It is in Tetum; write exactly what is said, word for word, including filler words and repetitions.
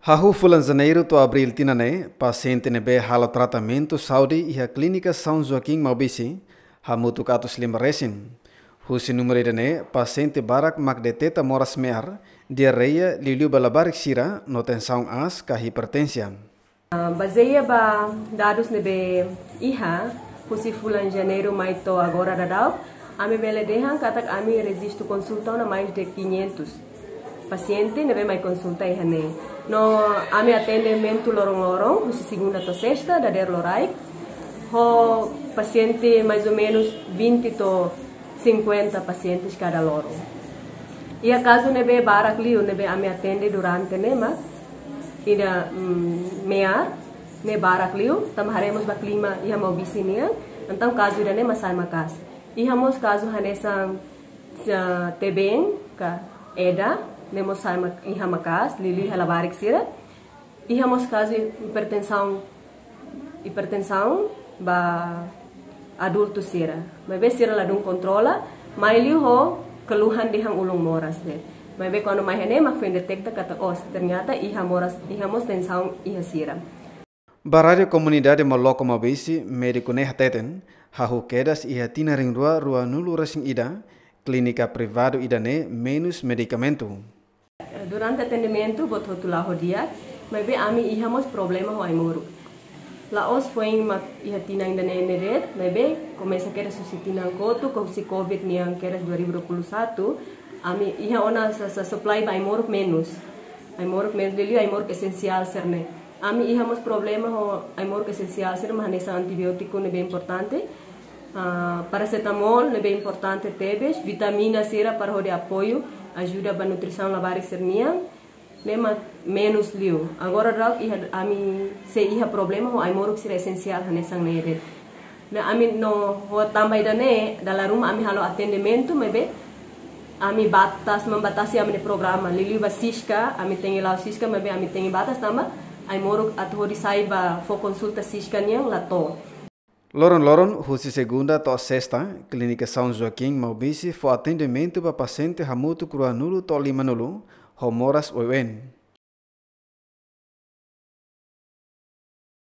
Hahú fulan Janeiru to'o Abríl tinan ne'e, pasiente ne'ebé halo tratamentu saúde iha Klínika São Joaquim Maubisse, hamutuk atus lima resin. Husi númeru ida-ne'e, pasiente barak mak deteta moras me'ar, diarreia, liuliu ba labarik sira, no tensaun aas ka hipertensa. Ah, bazeia ba dadus ne'ebé iha, husi fulan Janeiru mai to'o agora daudaun, ami bele dehan katak ami rejistu konsulta ona mais de quinhentos pasiente ne'ebé mai konsulta iha ne'e. No ami atendimentu loron-loron, husi segunda to'o sesta, dadeer loraik, ho pasiente mais ou menos vinte to'o cinquenta pacientes kada loron. Iha kazu ne'ebé barak liu ne'ebé ami atende durante ne'e mak ida, mm, me'ar ne'e barak liu, tanba haree mós ba klima iha Maubisse nian, entaun kazu ida-ne'e mak sai maka'as. Iha mós kazu hanesan, ah, tebeen ka eda, ne'e mós sai mak-, iha maka'as, liuliu iha labarik sira. Iha mós kazu hipertensaun, hipertensaun ba adultu sira. Maibé sira ladún kontrola, mai liu ho keluhan dehan ulun moras de'it. Maibé kuandu mai iha ne'e mak foin deteta katak, oh, ternyata iha moras, iha mós tensaun iha sira. Ba Rádiu Komunidade Moloko Maubisse, médiku ne'e hateten, hahú kedas iha tinan rihun rua ruanulu resin ida, klínika privadu ida-ne'e menus medikamentu. Durante atendimentu, buat hotu la'o di'ak, maibé ami iha mós problema ho ai-moruk. La'ós foin mak iha tinan ida-ne'e de'it, maibé komesa kedas husi tinan kotuk, husi covid nian kedas dua ribu dua puluh satu, ami iha ona sa, sa supply ba ai-moruk menus. Ai-moruk menus, liuliu ai-moruk esensiál sira-ne'e. Ami iha mós problema ho ai-moruk esensiál sira, mak hanesan antibiótiku ne'ebé importante, ah, parasetamol ne'ebé importante tebes, vitamina sira para hodi apoiu, ajuda ba nutrisaun labarik sira-nian, ne'e mak menus liu. Agora daudaun iha, ami sei iha problema ho ai-moruk sira esensiál hanesan ne'e de'it. Ne'e ami no ho tanba ida-ne'e, dala ruma ami halo atendimentu, maibé ami batas, membatasi ami-nia programa. Liuliu ba Siska, ami tenke la'o Siska, maibé ami tenke batas tanba ai-moruk atu hodi sai ba fó konsulta Siska nian la to'o. Loron-loron, husi segunda to'o sesta, Klínika São Joaquim Maubisse fó atendimentu ba pasiente hamutuk ruanulu to'o limanulu, ho moras oioin.